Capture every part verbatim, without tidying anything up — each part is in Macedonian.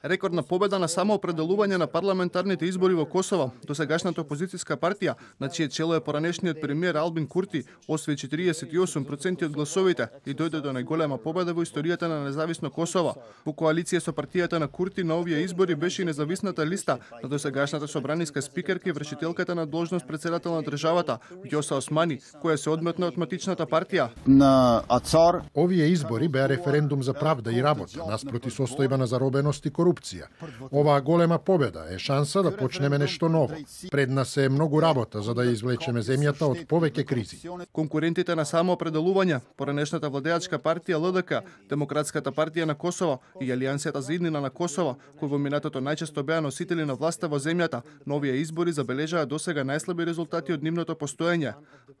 Рекордна победа на самоопределување на парламентарните избори во Косово. Досегашната опозицијска партија, на чие чело е поранешниот премиер Албин Курти, освои четириесет и осум проценти од гласовите и дојде до најголема победа во историјата на независно Косово. Во коалиција со партијата на Курти на овие избори беше и независната листа на досегашната собраниска спикерка и вршителката на должност председател на државата, Ѓоса Османи, која се одметна од матичната партија. На Ацар Овие избори беа референдум за правда и работа, наспроти состојба на заробеност и корупција. Оваа голема победа е шанса да почнеме нешто ново. Пред нас е многу работа за да ја извлечеме земјата од повеќе кризи. Конкурентите на самоопределување, поранешната владеачка партија Л Д К, Демократската партија на Косово и Алијансијата за иднина на Косово, кои во минатото најчесто беа носители на власта во земјата, на овие избори забележаа досега најслаби резултати од нивното постоење.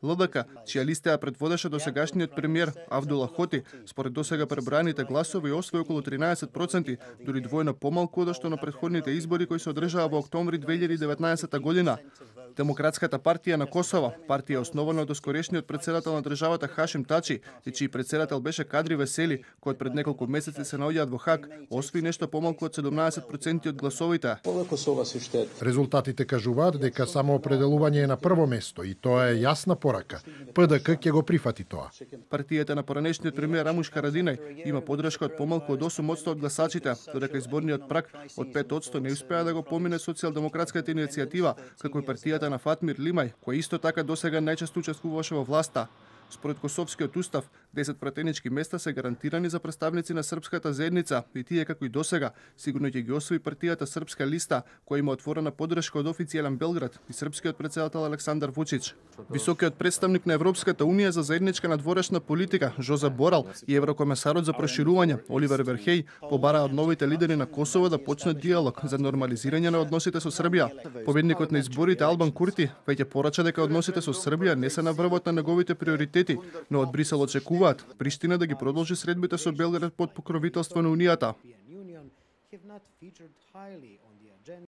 Л Д К, чија листа ја предводеше досегашниот премиер Авдула Хоти, според досега пребраните гласови освои околу тринаесет проценти, дури двојно помалку од што на претходните избори кои се одржаа во октомври две илјади и деветнаесетта година. Демократската партија на Косово, партија основана од доскорешниот председател на државата Хашим Тачи и чиј председател беше Кадри Весели, кој пред неколку месеци се наоѓаат во Хаг, освои нешто помалку од седумнаесет проценти од гласовите. Резултатите кажуваат дека самоопределување е на прво место и тоа е јасна порака. П Д К ќе го прифати тоа. Партијата на поранешниот премиер Рамуш Харадинај има подршка од помалку од осум одсто од гласачите, додека изборниот праг од пет одсто не успеа да го помине социјалдемократската иницијатива, како и партијата на Фатмир Лимај, која исто така досега најчесто учествуваше во власта. Според Косовскиот устав, десет пратенички места се гарантирани за представници на српската заедница и тие како и досега сигурно ќе ги освои партијата Српска листа, која има отворена подршка од официјален Белград и српскиот председател Александар Вучич. Високиот представник на Европската унија за заедничка надворешна политика Жозеп Борел и еврокомесарот за проширување Оливер Верхеј побараа од новите лидери на Косово да почнат диалог за нормализирање на односите со Србија. Победникот на изборите Албан Курти веќе порача дека односите со Србија не се на врвот на неговите приоритети, но од Брисел очекуваат Приштина да ги продолжи средбите со Белград под покровителство на Унијата.